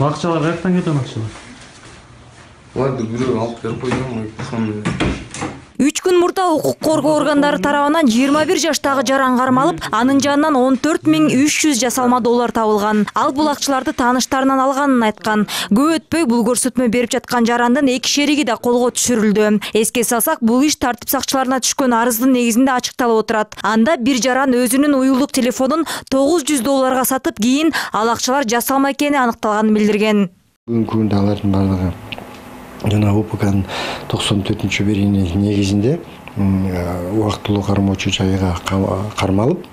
Акчалар каяктан кеткен акчалар? Аларды бирөө алып берип койгон. 3 күн мурда укук коргоо органдары тарабынан 21 жаштагы жаран кармалып, анын жанынан 14.300 жасалма доллар табылган. Ал бул акчаларды тааныштарынан алганын айткан. Көп өтпөй бул көрсөтмө берип жаткан жарандын 2 шериги да колго түшүрүлдү. Эске салсак, бул иш тартип сакчыларына түшкөн арыздын негизинде ачыкталып отурат. Анда бир жаран өзүнүн уюлдук телефонун $900 сатып, кийин ал акчалар жасалма экени аныкталганын билдирген. Бүгүнкү күндө алардын бардыгы жана УПКнын 94-чү беренеси негизинде убактылуу кармоочу жайга кармалып,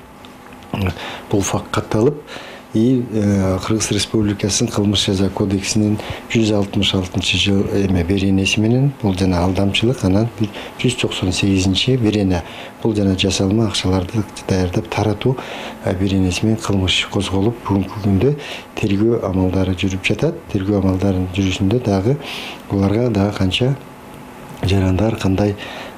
бул факт катталып, Кыргыз Республикасынын кылмыш жаза кодексинин 166-жыл беренеси менен бул жана алдамчылык, анан 198-чи берене бул жана жасалма акчаларды даярдап таратуу беренеси менен кылмыш козголуп, бүгүнкү күндө тергөө амалдары жүрүп жатат. Тергөө амалдарынын жүрүшүндө дагы буларга дагы канча жарандар, кандай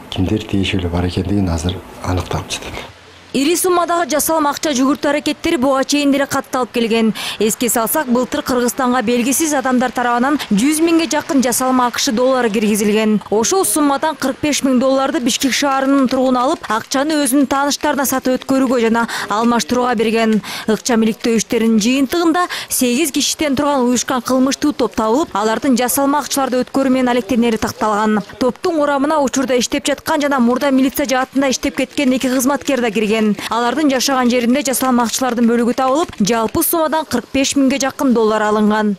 кимдер тиешелүү бар экендигин азыр аныкталып жатат. Ири суммадагы жасалма акча жүгүртүү аракеттери буга чейин деле катталып келген. Эске салсак, былтыр Кыргызстанга белгисиз адамдар тарабынан 100 миңге жакын жасалма акш доллары киргизилген. Ошол суммадан $45.000 Бишкек шаарынын тургуну алып, акчаны өзүнүн тааныштарына сатып өткөрүүгө жана алмаштырууга берген. Ыкчам иликтөө иштеринин жыйынтыгында 8 кишиден турган уюшкан кылмыштуу топ табылып, алардын жасалма акчаларды өткөрүү менен алектенери такталган. Топтун курамына учурда иштеп жаткан жана мурда милиция жаатында иштеп кеткен 2 кызматкер да кирген. Алардын жашаган жеринде жасалма акчалардын бөлүгү табылып, жалпы суммадан 45 миңге жакын доллар алынган.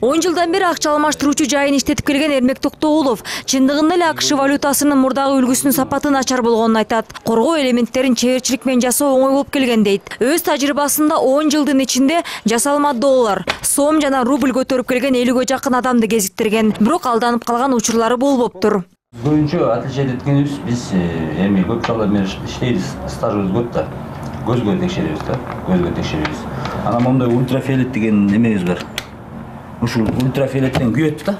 10 жылдан бери акча алмаштыруучу жайын иштетип келген Эрмек Токтогулов чындыгында эле акш валютасынын мурдагы үлгүсүнүн сапаты начар болгонун айтат. Коргоо элементтерин чеберчилик менен жасоо оңой болуп келген дейт. Өз тажрыйбасында 10 жылдын ичинде жасалма доллар, сом жана рубль көтөрүп келген 50ге жакын адамды кезиктирген. Бирок алданып калган учурлары болбоптур. Көбүнчө отличие эткенибиз биз эми көп жылдар бери иштейбиз, стажыбыз көп да. Көзгө текшеребиз. Анан моундай ультрафиолет деген немебиз бар. Ушул ультрафиолеттен күйөт да.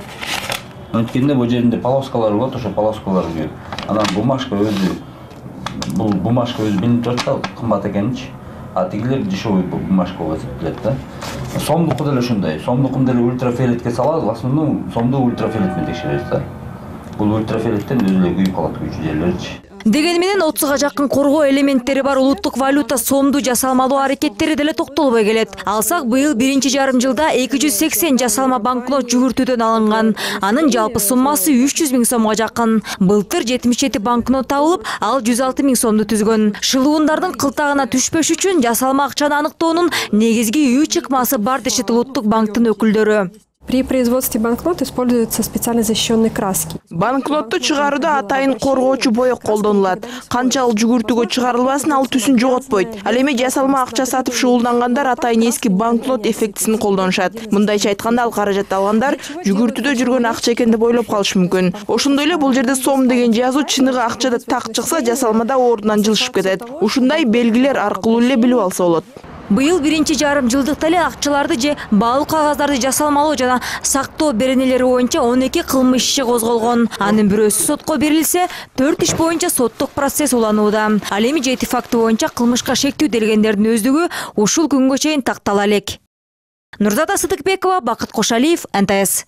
Анткенде бул жеринде полоскалар болот, ошо полоскалар күйөт. Анан бумажка өзү билинип турат да, кымбат экенинчи. А тигилер дешевый бумажка болуп эсептелет да. Сомдуку деле ошондой. Сомдукун деле ультрафиолетке салабыз, в основном сомду ультрафиолет менен текшеребиз да. Бул ультрафиолеттен өзү эле күйүп калат күйчү жерлерчи. Дегени менен 30га жакын коргоо элементтери бар улуттук валюта сомду жасалмалоо аракеттери деле токтолбой келет. Алсак, быйыл 1,5 жылда 280 жасалма банкнот жүгүртүүдөн алынган. Анын жалпы суммасы 300 миң сомго жакын. Былтыр 77 банкнот табылып, ал 106 миң сомду түзгөн. Шылуундардын кылтагына түшпөш үчүн жасалма акчаны аныктоонун негизги үй чыкмасы бар дешет улуттук банктын өкүлдөрү. При производстве банкнот используются специально защищенные краски. Банкнотту чыгарууда атайын коргоочу боек колдонулат. Канча ал жүгүртүүгө чыгарылбасын, ал түсүн жоготпойт. Ал эми жасалма акча сатып шуулдангандар атайын эски банкнот эффектисин колдонушат. Мындайча айтканда, ал каражат алгандар жүгүртүүдө жүргөн акча экен деп ойлоп калышы мүмкүн. Ошондой эле бул жерде сом деген жазуу чыныгы акчада так чыкса, жасалмада ордунан жылышып кетет. Ушундай белгилер аркылуу эле билип алса болот. Быйыл 1,5 жылдыкта эле акчаларды же баалуу кагаздарды жасалмалоо жана сактоо беренелери боюнча 12 кылмыш иши козголгон. Анын бирөөсү сотко берилсе, 4 иш боюнча соттук процесс уланууда. Ал эми 7 факты боюнча кылмышка шектүү делгендердин өздүгү ушул күнгө чейин тактала элек. Нурзада Сыдыкбекова, Бакыт Кошалиев, НТС.